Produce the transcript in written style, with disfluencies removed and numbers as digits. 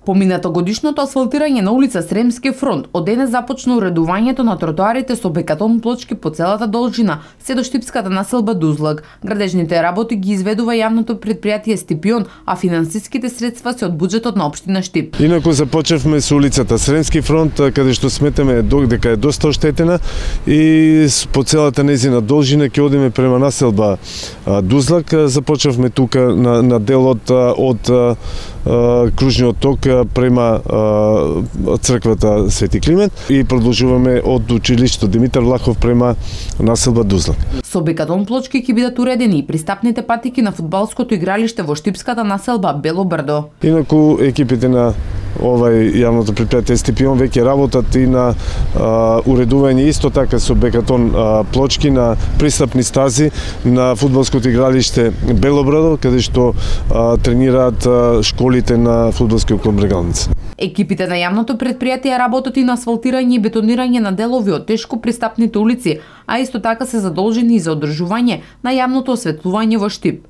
Поминатогодишното асфалтирање на улица Сремски фронт од денес започна уредувањето на тротоарите со бекатон плочки по целата должина, се до штипската населба Дузлак. Градежните работи ги изведува јавното претпријатие Стипион, а финансиските средства се од буџетот на општина Штип. Инаку започнавме со улицата Сремски фронт, каде што сметаме дека е доста оштетена и по целата незина должина ќе одиме према населба Дузлак. Започнавме тука на делот од кружниот ток према црквата Свети Климент и продолжуваме од училиштето Димитар Влахов према населба Дузлак. Со бекатон плочки ќе бидат уредени и пристапните патики на фудбалското игралиште во штипската населба Бело Брдо. Инаку екипите на јавното претпријатие Стипион веќе работат и на уредување исто така со бекатон плочки на пристапни стази на фудбалското игралиште Бело Брдо, каде што тренираат школите на фудбалскиот клуб Брегалница. Екипите на јавното претпријатие работат и на асфалтирање и бетонирање на делови од тешко пристапните улици, а исто така се задолжени и за одржување на јавното осветлување во Штип.